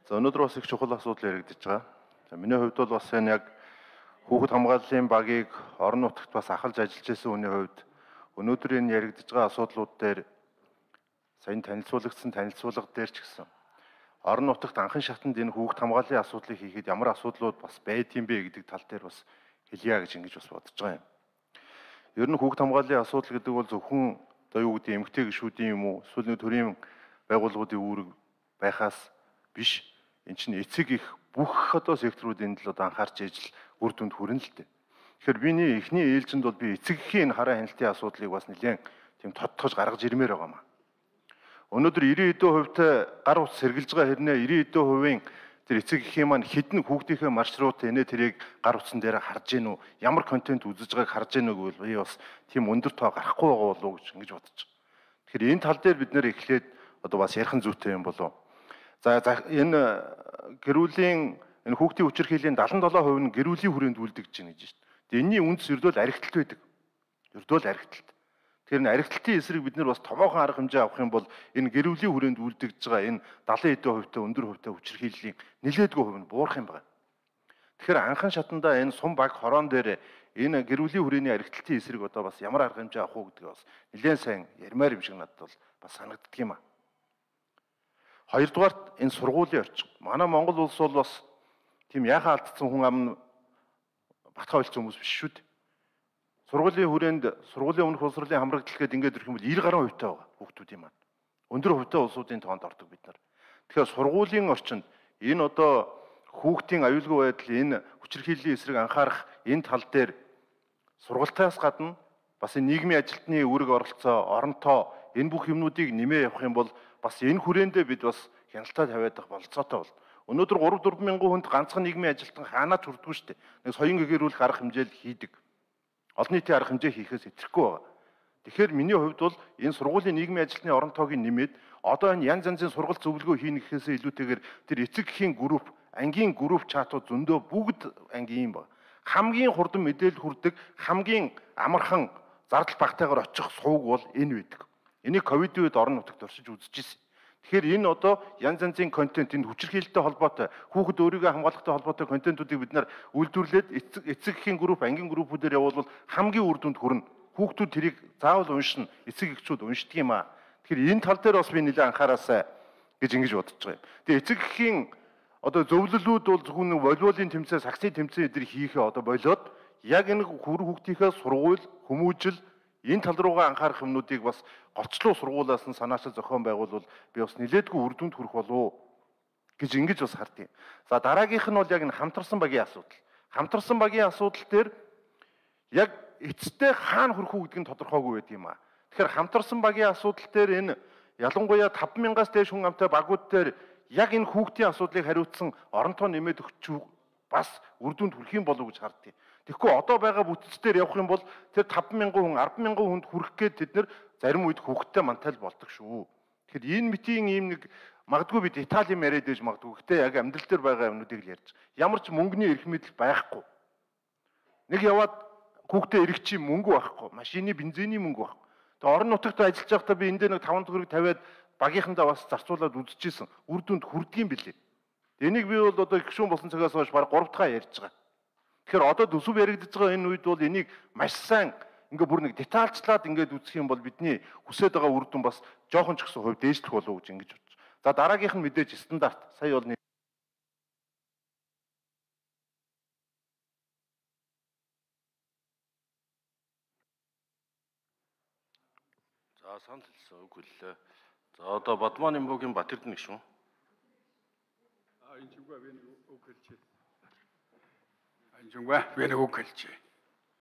За өнөөдөр бас их чухал асуудал яригдж байгаа. За миний хувьд бол бас энэ яг хүүхэд хамгааллын багийг орон нутагт бас ахалж ажиллаж байсан хүний хувьд өнөөдөр энэ яригдж байгаа асуудлууд дээр саяны танилцуулга дээр ч гэсэн орон нутагт анхан шатанд энэ хүүхэд хамгааллын асуудлыг хийхэд ямар асуудлууд бас байдгийм бэ гэдэг тал дээр бас хэлье гэж ингэж бас бодож байгаа юм. Ер нь хүүхэд хамгааллын асуудал гэдэг бол зөвхөн одоо юу гэдэг эмэгтэй гишүүдийн юм уу эсвэл нэг төрийн байгууллагуудын үүрэг байхаас биш. Энд чинь эцэг их бүх одоо секторуудын л одоо анхаарч ижил үр дүнд хүрнэ л дээ. Тэгэхээр биний эхний ээлжинд бол би эцэг эхийн хараа хяналтын асуудлыг бас нэлээд тийм тодтогч гаргаж ирмээр байгаа маа. Өнөөдөр 90% гар утас сэргэлж байгаа хэрнээ 90% тэр эцэг эхийн маань хідэн хүүхдийнхээ маршрут энэ тэрийг гар утсан дээр харж гин үү, ямар контент үзэж байгааг харж гин үү гэвэл би бас тийм өндөр тоо гарахгүй байгаа болов уу гэж ингэж бодож байгаа. Тэгэхээр энэ тал дээр бид нэр эхлээд одоо бас ярих зүйтэй юм болов. За энэ гэрүүлийн энэ хүүхдийн хүчирхийллийн 77% нь гэрүүлийн хүрээнд үлдэж байна гэж байна. Тэгээ энэний үндэс ердөө архиталт байдаг. Ердөө л архиталт. Тэгэхээр энэ архиталтын эсрэг бид нар бас томоохон арга хэмжээ авах юм бол энэ гэрүүлийн хүрээнд үлдэж байгаа энэ 70% өндөр хувьтай хүчирхийллийн нэлээдгүй хувь нь буурах юм байна. Тэгэхээр анхан шатандаа энэ сум баг хорон дээр энэ гэрүүлийн хүрээний архиталтын эсрэг одоо бас ямар арга хэмжээ авах уу гэдгийг бас нэлээд сайн ярмаар юм шиг надад бол бас санагддаг юм аа. Хоёрдугаарт энэ сургуулийн орчин. Манай Монгол улс бол бас тийм яхаа алдсан хүн ам батхаа ойлцсон хүмүүс биш шүү дээ. Сургуулийн хүрээнд сургуулийн өмнөх боловсролын хамрагдал гэдэг ингээд ирэх юм бол 90 гаруй хувьтай байгаа хүүхдүүдийн маань. Өндөр хувьтай улсуудын тоонд ордог бид нар. Тэгэхээр сургуулийн орчинд энэ одоо хүүхдийн аюулгүй байдал, энэ хүчирхийллийн эсрэг анхаарах энэ тал дээр сургалтаас гадна бас энэ нийгмийн ажилтны үүрэг оролцоо, оронтоо энэ бүх юмнуудыг нэмээ явах юм бол бас энэ хүрээндээ бид бас хяналтаа тавиад авах болцоотой бол. Өнөөдөр 3-4 мянган хүнд ганцхан нийгмийн ажилтан хаанаа ч хүрдэггүй шүү дээ. Нэг соён гэгэрүүлэх арга хэмжээл хийдэг. Олон нийтийн арга хэмжээ хийхээс итгэхгүй байгаа. Тэгэхээр миний хувьд бол энэ сургуулийн нийгмийн ажилтны оронтоог нэмээд одоо энэ янз янзын сургалт зөвлөгөө хийнэ гэхээсээ илүүтэйгээр тэр эцэг эхийн групп, ангийн групп чатууд зөндөө бүгд ангийн юм ба. Хамгийн хурдан мэдээлэл хүрдэг, хамгийн амархан зардал багтаагаар очих сувг бол энэ байдаг. Энийг ковидын үед орон нутагт оршиж үзчихсэн. Тэгэхээр энэ одоо янз янзын контент, энэ хүчирхийлэлтэй холбоотой, хүүхэд өөрийгөө хамгаалахтай холбоотой контентуудыг бид нар үйлдвэрлээд эцэг эхийн групп, ангийн группүүдээр явуулвал хамгийн үр дүнд хүрнэ. Хүүхдүүд тэрийг заавал уншина, эцэг эхчүүд уншдаг юм аа. Тэгэхээр энэ тал дээр бас би нэлээд анхаараасай гэж ингэж бодож байгаа юм. Тэгээ эцэг эхийн одоо зөвлөлүүд бол зөвхөн волейболын тэмцээн, саксын тэмцээн эдгээр хийхээ одоо болоод яг энэ хүүхдийнхээ сургууль, хүмүүжил энэ тал руугаа анхаарах юмнуудыг бас голчлуу сургуулиас нь санаачил зохион байгуулвал би бас нэлээдгүй үр дүнд хүрэх болов гэж ингэж бас хардیں۔ За дараагийнх нь бол яг энэ хамтарсан багийн асуудал. Хамтарсан багийн асуудал дээр яг эцэстээ хаана хүрэх үү гэдг нь тодорхойгүй байдаг юм аа. Тэгэхээр хамтарсан багийн асуудал дээр энэ ялангуяа 5,000-аас дээш хүн амтай багууд дээр яг энэ хүүхдийн асуудлыг хариуцсан оронтоо нэмээд өгч бас үр дүнд хүрэх юм болов уу гэж хардیں۔ Тэгэхгүй одоо байгаа бүтцээр явах юм бол тэр 5,000 хүн 10,000 хүнд хүрэх гээд тэд нэр зарим үед хүүхдтэй мантал болдог шүү. Тэгэхээр энэ мэтийн ийм нэг магадгүй би деталь юм яриад байж магадгүй. Гэхдээ яг амьдрал дээр байгаа юмнуудыг л ярьж. Ямар ч мөнгөний эрх мэдэл байхгүй. Нэг яваад хүүхдээ эрэх чи мөнгө байхгүй. Машины бензиний мөнгө байхгүй. Тэгээ орон нутагт ажиллаж байхдаа би энд нэг 5 төгрөг тавиад багийнхандаа бас зарцуулаад үзчихсэн. Үр дүнд хүрдгийм билээ. Энийг би бол одоо гişүүн болсон цагаас хойш баг 3 дахь ярьж байгаа. Тэгэхээр одоо төсөв яригдж байгаа энэ үед бол энийг маш сайн ингээ бүр нэг детальчлаад ингээд үзэх юм бол бидний хүсэж байгаа үр дүн бас жоохон ч гэсэн хувь дээшлэх болов уу гэж ингэж бодож. За дараагийнх нь мэдээж стандарт. Сая бол За санал хэлсэн үг хэллээ. За одоо Бадман Имбогийн Батэрдэн гişүүн. Энэ чугаа би үг хэлчихэ. Энэ чугаа би үг хэлчихэ.